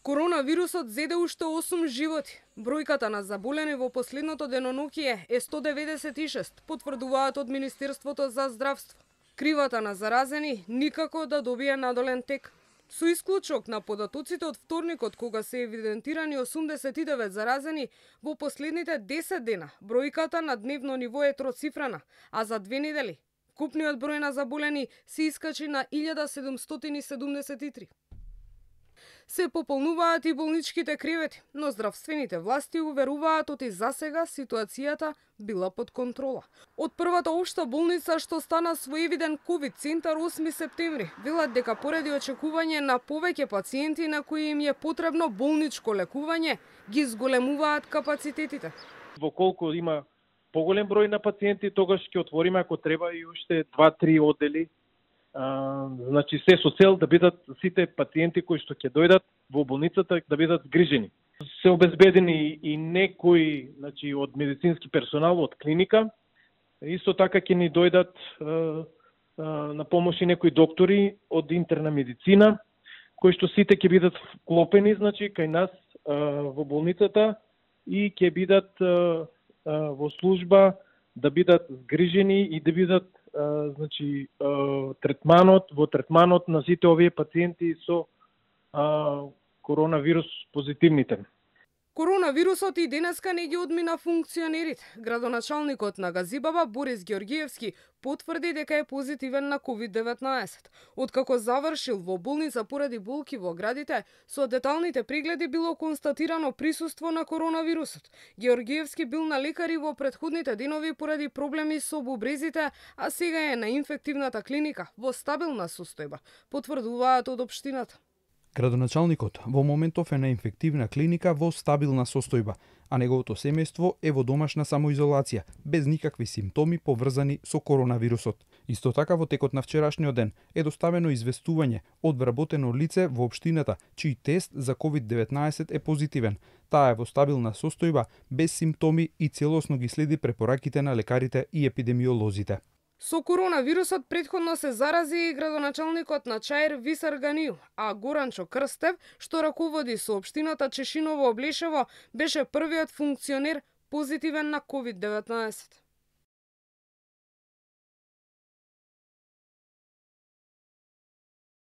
Коронавирусот зеде уште 8 животи. Бројката на заболени во последното деноноќие е 196, потврдуваат од Министерството за здравство. Кривата на заразени никако да добие надолен тек. Со исклучок на податоците од вторникот, кога се евидентирани 89 заразени, во последните 10 дена бројката на дневно ниво е троцифрена, а за 2 недели вкупниот број на заболени се искачи на 1773. Се пополнуваат и болничките кревети, но здравствените власти уверуваат оти засега ситуацијата била под контрола. Од првата општа болница што стана своевиден ковид центар 8 септември, велат дека поради очекување на повеќе пациенти на кои им е потребно болничко лекување, ги зголемуваат капацитетите. Во колку има поголем број на пациенти, тогаш ќе отвориме ако треба и уште 2-3 оддели. Значи се со цел да бидат сите пациенти кои што ќе дојдат во болницата да бидат згрижени. Се обезбедени и некои, значи од медицински персонал од клиника. Исто така ќе ни дојдат на помош и некои доктори од интерна медицина, кои што сите ќе бидат вклопени, значи кај нас во болницата и ќе бидат во служба да бидат згрижени и да бидат значи третманот на сите овие пациенти со коронавирус позитивните. Коронавирусот и денеска не ги одмина функционерите. Градоначалникот на Газибаба Борис Георгиевски потврди дека е позитивен на COVID-19. Откако завршил во болница поради болки во градите, со деталните прегледи било констатирано присуство на коронавирусот. Георгиевски бил на лекари во претходните денови поради проблеми со бубрезите, а сега е на инфективната клиника во стабилна состојба, потврдуваат од општината. Градоначалникот во моментов е на инфективна клиника во стабилна состојба, а неговото семејство е во домашна самоизолација, без никакви симптоми поврзани со коронавирусот. Исто така во текот на вчерашниот ден е доставено известување од вработено лице во општината, чиј тест за COVID-19 е позитивен. Таа е во стабилна состојба, без симптоми и целосно ги следи препораките на лекарите и епидемиолозите. Со коронавирусот претходно се зарази и градоначалникот на Чаир Висар Ганију, а Горанчо Крстев, што раководи со општината Чешиново Облешево, беше првиот функционер позитивен на COVID-19.